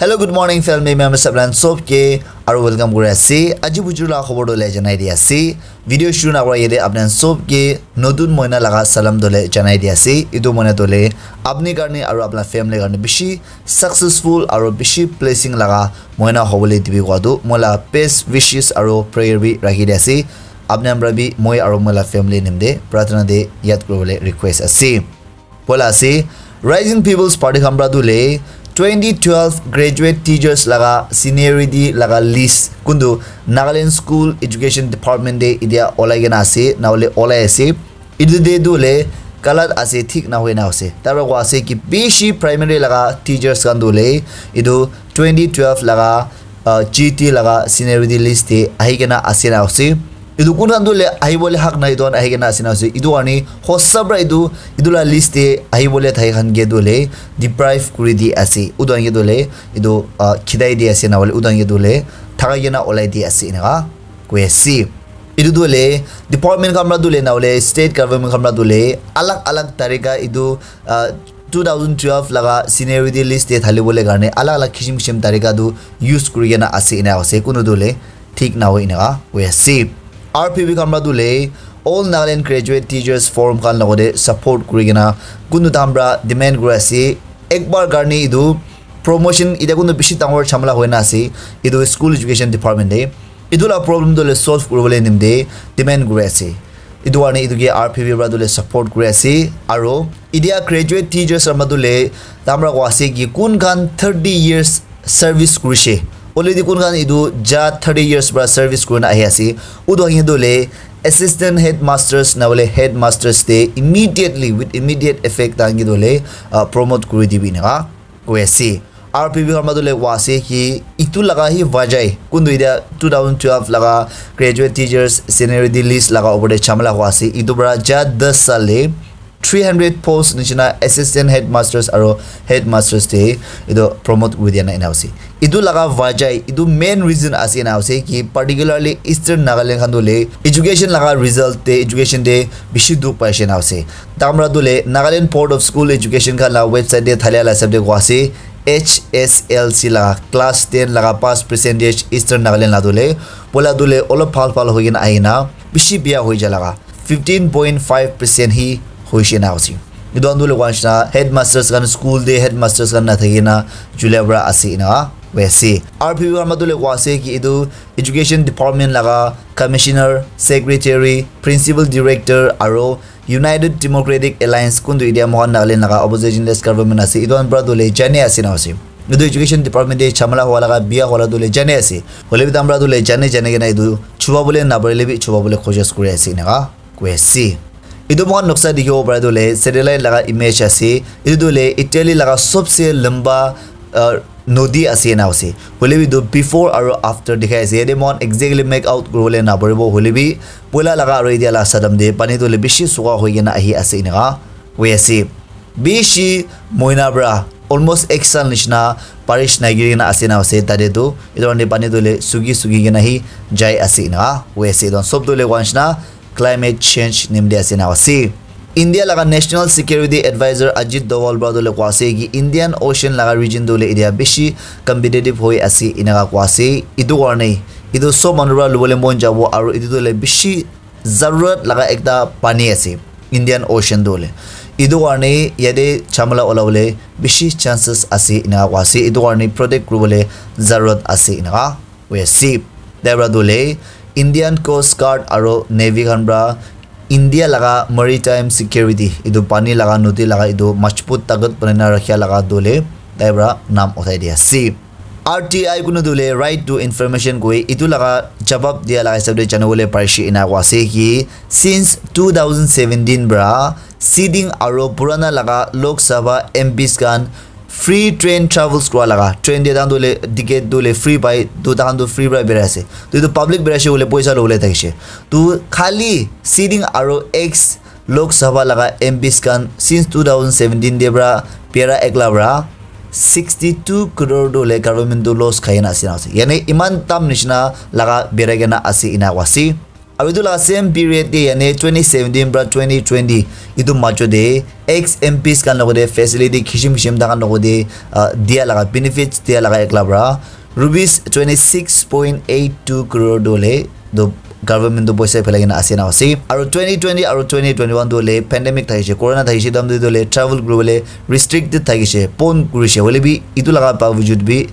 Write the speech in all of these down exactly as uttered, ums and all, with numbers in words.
Hello, good morning, family members. Apnan sob ke aru welcome kuri ase. Aji bujur la khobor dole janai di ase. Video shuru na kora yate apnan sob ke notun moina laga salam dole janai di ase. Itu moina dole apni karne aru apna family karne bishi successful aru bishi blessing laga moina hobole dibi kowa tu moila best wishes aru prayer bi rakhi di ase. Apni amra bi moi aru moila family nimde pratana de yad kuribole request ase. Poila ase, Rising People's Party khan pra tu le twenty twelve graduate teachers laga seniority laga list kuntu Nagaland School Education Department de idia olai kena ase, na ole olai ase. Itu de tu le galat ase, thik na hoina ase. Tara kowa ase ki bishi primary laga teachers khan tu le itu twenty twelve laga uh, G T laga seniority list te ahi kena ase na ase. Itu kun khan tu le ahi bole hak nai, itu khan ahi kena ase na ase. Itu karne hosa pra itu, itu la list te ahi bole thai khan ke tu le deprive kuri di ase. Utu khan ke tu le itu uh, khidai di ase na bole, utu khan ke tu le thakai kena olai di ase eneka koi ase. Itu tu le department khan pra tu le na bole state government khan pra tu le alag alag tarika itu uh, two thousand twelve laga seniority list te thali bole karne alag alag kishim kishim tarika tu use kuri kena ase ena ase. Kunu tu le thik na hoi eneka hoi ase. R P P khan pra tu le All Nagaland Graduate Teachers Forum khan logote support kuri kena kunu tam pra demand kuri ase. Ekbar karne itu promotion ite kunu bishi dangor chamala hoina ase. Itu school education department te. Itu la problem tu le solve kuribole nimde demand kuri ase. Itu karne itu ke R P P pra tu le support kuri ase. Aro idia graduate teachers khan pra tu le tamra kowa ase ki kun khan thirty years service kurishe. Already kun khan itu ja thirty years pra service kurina ahi ase. Utu hangi tu le assistant headmasters na bole headmasters te immediately, with immediate effect tangi tu le uh, promote kuri dibi eneka koi ase. R P P khan pra tu le kowa ase ki itu laga hi vajai kuntu idia two thousand twelve laga graduate teachers seniority list laga opor te chamala kowa ase. Itu pra ja das sal le three hundred post nishina assistant headmasters aro headmasters te itu promote kuri dia na ena ase. Itu laga vajai, itu main reason ase ena ase ki particularly Eastern Nagaland khan tu le education laga result te, education te bishi dukh paishe ena ase. Tamra tu le Nagaland Board of School Education khan la website te thalia la hisab te kowa ase H S L C laga class ten laga pass percentage Eastern Nagaland la tu le poila tu le olop bhal bhal hoi kena ahi na bishi biya hoi ja laga fifteen point five percent hi hoishe na ase. Itu khan tu le kowa nishina headmasters khan school te headmasters khan na thaki na julia pra ase ena hoi ase. R P P khan pra tu le kowa ase ki itu education department laga commissioner, secretary, principal director aro United Democratic Alliance kuntu idia mohan Nagaland laga opposition less government ase. Itu khan pra tu le jane ase na ase. Itu education department te chamala howa laga biya hola tu le jane ase. Hole bi tamra tu le jane jane kena itu chuba bole na parile bi chuba bole koshis kuri ase eneka koi ase. Itu mohan noksa dikhibo para tu le satellite laga image ase. Itu tu le Italy laga sobse lamba uh, nodi ase ena ase. Hole bi tu before aro after dikhai ase. Yate mohan exactly make out kuribole na paribo. Hole bi poila laga aro idia la sadam te pani tu le bishi suka hoi kena ahi ase eneka koi ase. Bishi moina pra almost ek sal nishina barish nai giri kena ase na ase tate tu. Itu karne pani tu le suki suki kena hi jai ase eneka hoi ase. Itu sob tu le kowa nishina climate change nimde ase na ase. India laga National Security Advisor Ajit Doval pra tu le kowa ase ki Indian Ocean laga region tu le idia bishi competitive hoi ase eneka kowa ase. Itu karne itu sob manu pra lubole mon jabo aro itu tu le bishi zarurat laga ekta pani ase Indian Ocean tu le. Itu karne yate chamala ola bole bishi chances ase eneka kowa ase. Itu karne protect kuribole zarurat ase eneka koi ase. Tai pra tu le Indian Coast Guard aro Navy khan pra India laga maritime security, itu pani laga, nodi laga itu majbut takat banai na rakhia laga tu le tai pra naam uthai di ase. R T I kunu tu le right to information koi itu laga jawab dia laga hisab te jana bole parishe ena kowa ase ki since two thousand seventeen pra sitting aro purana laga Lok Sabha M Ps khan free train travels kura laga train te tahan tu le ticket tu le free pai tu tahan tu free pra berai ase. Tu itu public berai ase bole poisa lobole thakishe. Tu khali sitting aro ex Lok Sabha laga M Ps khan since two thousand seventeen te pra biara ekla pra sixty two crore tu le government tu loss khai na ase na ase. Yani iman tam nishina laga birai kena ase ena kowa ase. Aru etu laga same period te, yani twenty seventeen pra twenty twenty, etu majo te ex M Ps khan logote facility kishim kishim takan logote, ah, dia laga benefits dia laga ekla pra rupees twenty six point eight two crore dole do government to poisa phelai kena ase na ase. Aru twenty twenty aru twenty twenty-one dole pandemic thakishe, corona thakishe, tam dole travel kuribole restricted thakishe, pon kurishe. Hoile bi etu laga bavujud bi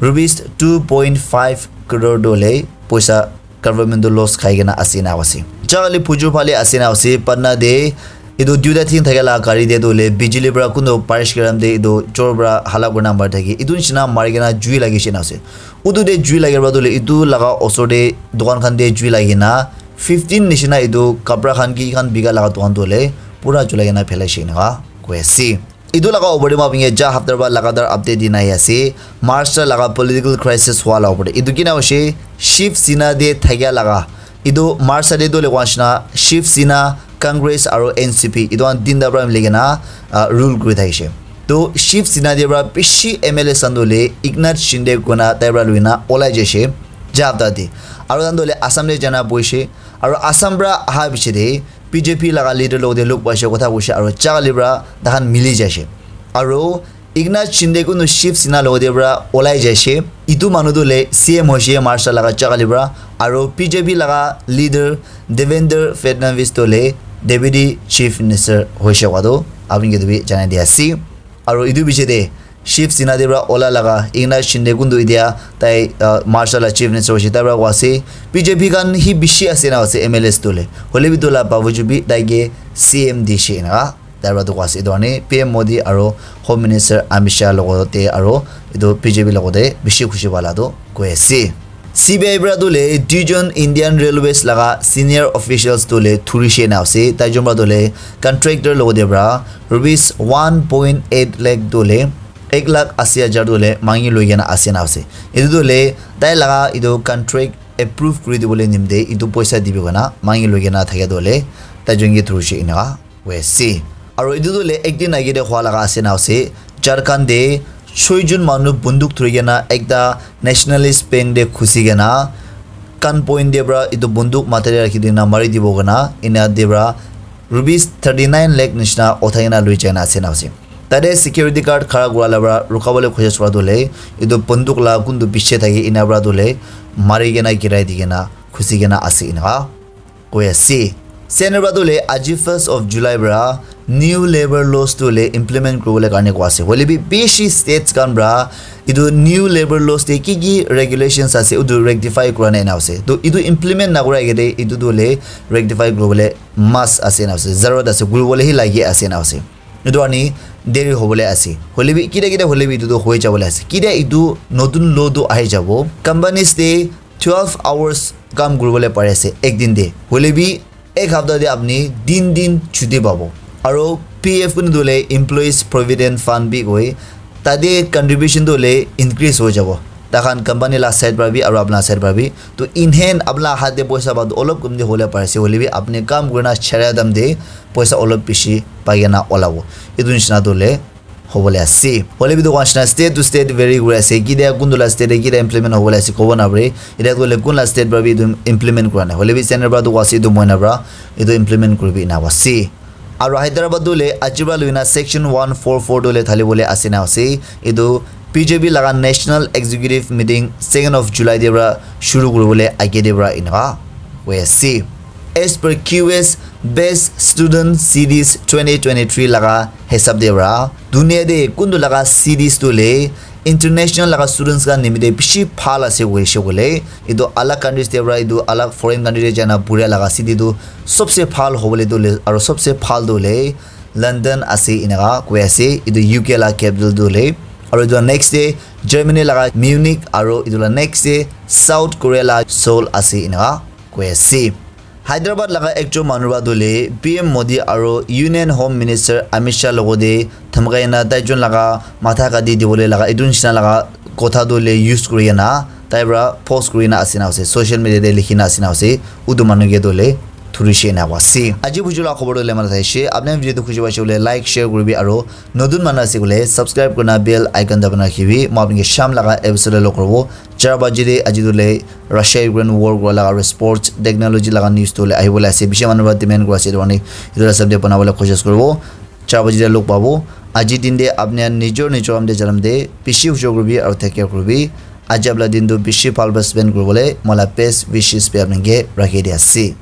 rupees two point five crore dole poisa government to loss khai kena ase na ase. Jagale phujur phale ase na ase, Patna te etu duita thing thake la gari te tu le bijili pra kuntu parish garam te etu chor pra hala kurina mari thaki. Etu nishina mari kena jui lagi she na ase. Utu te jui lagi pra tu le etu laga osor te dukan khan te jui lagi na fifteen nishina etu kapra khan ki khan bika laga dukan tu le pura julai kena phelai she na koi ase. Etu laga opor te moi apni ke ja hapta para lagatar update dina ahi ase. Maharashtra laga political crisis hua la opor te. Etu kina hoise Shiv Sena te thakia laga. Etu Maharashtra te tu le koa nishina Shiv Sena, Congress aru N C P. Etu khan tinta para mili kena, ah, rule kuri thakishe. To Shiv Sena te para bishi M L A san tu le Eknath Shinde kona tai para lui na olai jaishe. Ja hapta te. Aru tan tu le Assam te jana boishe. Aru Assam para aha piche te B J P laga leader logote log paishe, kotha koishe aru jaga li pra takhan mili jaishe. Aru Eknath Shinde kunu Shiv Sena logote pra olai jaishe. Itu manu tu le C M hoishe Maharashtra laga jaga li pra. Aru B J P laga leader Devendra Fadnavis tu le Deputy Chief Minister hoishe koa tu apni ke tu bi janai dia ase. Aru itu piche te Shiv Sena te pra ola laga Eknath Shinde kuntu itia tai, ah, Maharashtra la Chief Minister hoise, tai pra koa ase B J P khan hi bishi ase na ase M L As tu le. Hoile bi tu la bavuju bi tai ke C M dishe na tai pra tu koa ase. Etu karne P M Modi aru Home Minister Amit Shah logote aru etu B J P logote bishi khushi pala tu koi ase. C B I pra tu le duijon Indian Railways laga senior officials tu le thurishe na ase. Tai jon pra tu le contractor logote pra rupees one point eight lakh tu le ek lakh asi hajar tu le mangi loi kena ase na ase. Etu tu le tai laga etu contract approve kuri dibole nimite etu poisa dibi kena mangi loi kena thakia tu le tai jon ke thurishe eneka koi ase. Aru etu tu le ek din age te hua laga ase na ase. Jharkhand te choi jon manu bunduk thuri kena ekta nationalist bank te khusi kena gun point te pra etu bunduk matha te rakhi dina mari dibo kena ena te pra rupees thirty nine lakh nishina uthai kena loi jai na ase na ase. Tate security guard khara kura la pra rukha bole khuja swa tu le etu bunduk la kuntu piche thaki ena pra tu le mari kena girai di kena khusi kena ase eneka koi ase. Center pra tu le aji first of July pra new labour laws tu le implement kuribole karne koa ase. Hoile bi bishi states khan pra etu new labour laws te ki ki regulations ase utu rectify kura nai na ase. To etu implement na kura age te etu tu le rectify kuribole must ase na ase. Zarurat ase, kuribole hi lagi ase na ase. Etu ani deri hobole ase. Hoile bi kitia kitia hoile bi etu tu hoi jabole ase. Kitia etu notun law tu ahi jabo. Companies te twelve hours kam kuribole pari ase ek din te. Hoile bi ek hapta te apni tin din chuti pabo. Aru P F kunu tu le Employees Provident Fund bi koi. Tate contribution tu le increase hoi jabo. Takhan company la side pra bi aru apna side pra bi. To in hand apna hat te poisa pa tu olop kumti hole pari ase. Hoile bi apni kam kurina chara dam te poisa olop bishi pai kena olabo. Etu nishina tu le hobole ase. Hoile bi tu koa nishina state to state vary kuri ase. Kitia kuntu la state te kitia implement hobole ase kobo na pare. Etia tu le kun la state pra bi etu implement kura nai. Hoile bi center pra tu koa ase etu moi na pra etu implement kuribi ena koa ase. Aru Hyderabad tu le aji pra lui na section one four four tu le thali bole ase na ase. Etu B J P laga national executive meeting second of July te pra shuru kuribole age te pra eneka koi ase. As per Q S Best Student Cities twenty twenty-three laga hisab te pra dunia te kuntu laga cities tu le international laga students khan nimite bishi bhal ase koishe koile etu alag countries te pra etu alag foreign country te jaina pura laga city tu sobse bhal hobole tu le aru sobse bhal tu le London ase eneka koi ase. Etu U K la capital tu le aru etu next te Germany laga Munich aru etu la next te South Korea la Seoul ase eneka koi ase. Hyderabad laga ekjon manu pra tu le P M Modi aru Union Home Minister Amit Shah logote dhamkai na tai jon laga matha kati dibole laga etu nishina laga kotha tu le use kuri kena tai pra post kuri na ase na ase, social media te likhi na ase na ase. Utu manu ke tu le Kurishe na wasi. Aji buju la khobor le mana thaishe. Apni video tu khushi paishe bole like, share kuribi aro notun manu ase bole subscribe kurina bell icon dabana rakhibi. Mo apni ke sham laga episode lo koribo. Char baji de aji tu le Russia Ukraine war kura laga aro sports technology laga news tu le ahi bole ase. Bishi manu ba demand kura ase. Etu karone etu la sabde bana bole koshish koribo. Char baji de log pabo. Aji din de apni nijor nijor am de janam de bishi hujor kuribi aro take care kuribi. Aji apla din tu bishi bhal ba spend kuribole mola best wishes bi apni ke rakhi di ase.